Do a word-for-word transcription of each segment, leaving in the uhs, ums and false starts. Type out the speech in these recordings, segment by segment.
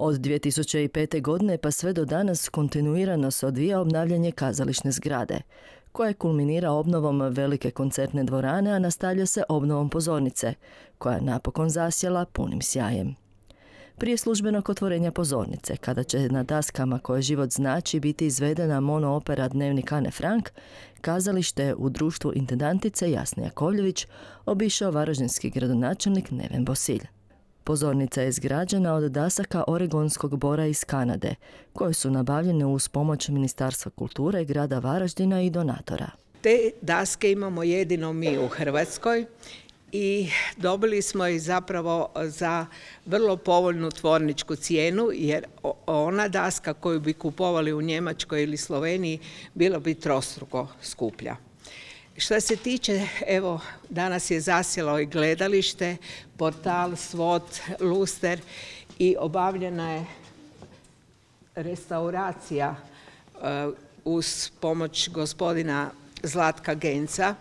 Od dvije tisuće pete. godine pa sve do danas kontinuirano se odvija obnavljanje kazališne zgrade, koja kulminira obnovom velike koncertne dvorane, a nastavlja se obnovom pozornice, koja je napokon zasjela punim sjajem. Prije službenog otvorenja pozornice, kada će na daskama koje život znači biti izvedena monoopera Dnevnik Ane Frank, kazalište u društvu intendantice Jasne Jakovljević obišao varaždinski gradonačelnik Neven Bosilj. Pozornica je izgrađena od dasaka oregonskog bora iz Kanade, koje su nabavljene uz pomoć Ministarstva kulture, grada Varaždina i donatora. Te daske imamo jedino mi u Hrvatskoj i dobili smo ih zapravo za vrlo povoljnu tvorničku cijenu, jer ona daska koju bi kupovali u Njemačkoj ili Sloveniji bila bi trostruko skuplja. Što se tiče, evo, danas je zasjelo i gledalište, portal, svod, luster i obavljena je restauracija uh, uz pomoć gospodina Zlatka Genca,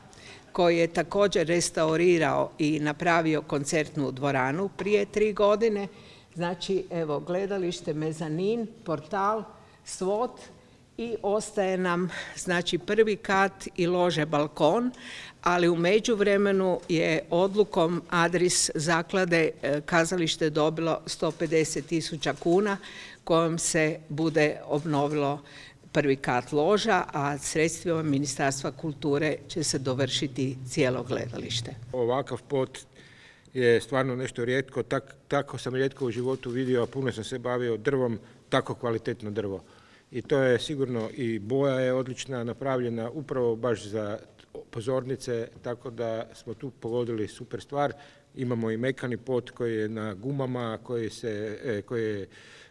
koji je također restaurirao i napravio koncertnu dvoranu prije tri godine. Znači, evo, gledalište, mezanin, portal, svod i ostaje nam, znači, prvi kat i lože balkon, ali u međuvremenu je odlukom Adris zaklade kazalište dobilo sto pedeset tisuća kuna kojom se bude obnovilo prvi kat loža, a sredstvima Ministarstva kulture će se dovršiti cijelo gledalište. Ovakav pot je stvarno nešto rijetko, tak, tako sam rijetko u životu vidio, a puno sam se bavio drvom, tako kvalitetno drvo. I to je sigurno, i boja je odlična, napravljena upravo baš za pozornice, tako da smo tu pogodili super stvar. Imamo i mekani pot koji je na gumama, koji se, koji je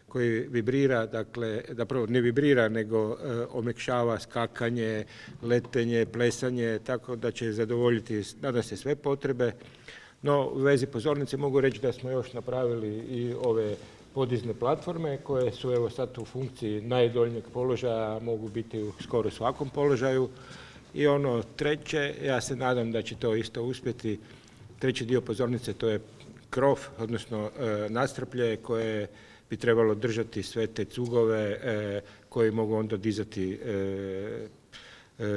koji vibrira, dakle, zapravo ne vibrira, nego e, omekšava skakanje, letenje, plesanje, tako da će zadovoljiti, nadam se, sve potrebe. No, u vezi pozornice mogu reći da smo još napravili i ove podizne platforme koje su evo sad u funkciji najdoljnjeg položaja, mogu biti u skoro svakom položaju. I ono treće, ja se nadam da će to isto uspjeti, treći dio pozornice, to je krov, odnosno e, nastrplje koje bi trebalo držati sve te cugove e, koji mogu onda dizati e, e,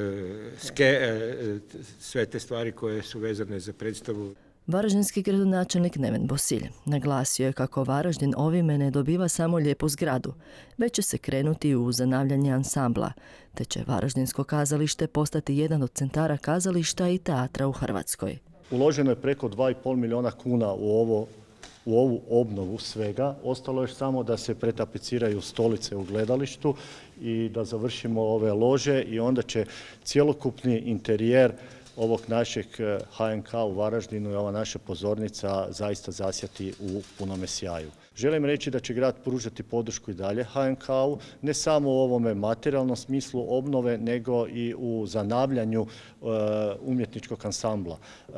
ske, e, sve te stvari koje su vezane za predstavu. Varaždinski gradonačelnik Neven Bosilj naglasio je kako Varaždin ovime ne dobiva samo lijepu zgradu, već će se krenuti u zanavljanje ansambla, te će Varaždinsko kazalište postati jedan od centara kazališta i teatra u Hrvatskoj. Uloženo je preko dva i pol milijuna kuna u ovo u ovu obnovu svega. Ostalo je samo da se pretapiciraju stolice u gledalištu i da završimo ove lože i onda će cjelokupni interijer ovog našeg ha en ka u Varaždinu i ova naša pozornica zaista zasjati u punome sjaju. Želim reći da će grad pružati podršku i dalje ha en ka-u, ne samo u ovome materijalnom smislu obnove, nego i u zanavljanju e, umjetničkog ansambla. E,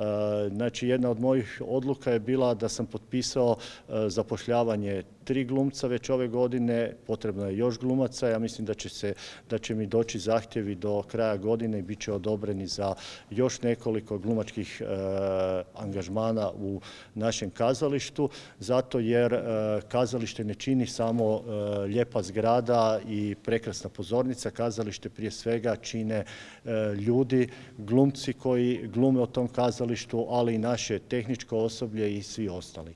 znači, jedna od mojih odluka je bila da sam potpisao e, zapošljavanje tri glumca već ove godine, potrebno je još glumaca, ja mislim da će, se, da će mi doći zahtjevi do kraja godine i bit će odobreni za još nekoliko glumačkih e, angažmana u našem kazalištu, zato jer e, kazalište ne čini samo e, lijepa zgrada i prekrasna pozornica, kazalište prije svega čine e, ljudi, glumci koji glume o tom kazalištu, ali i naše tehničko osoblje i svi ostali.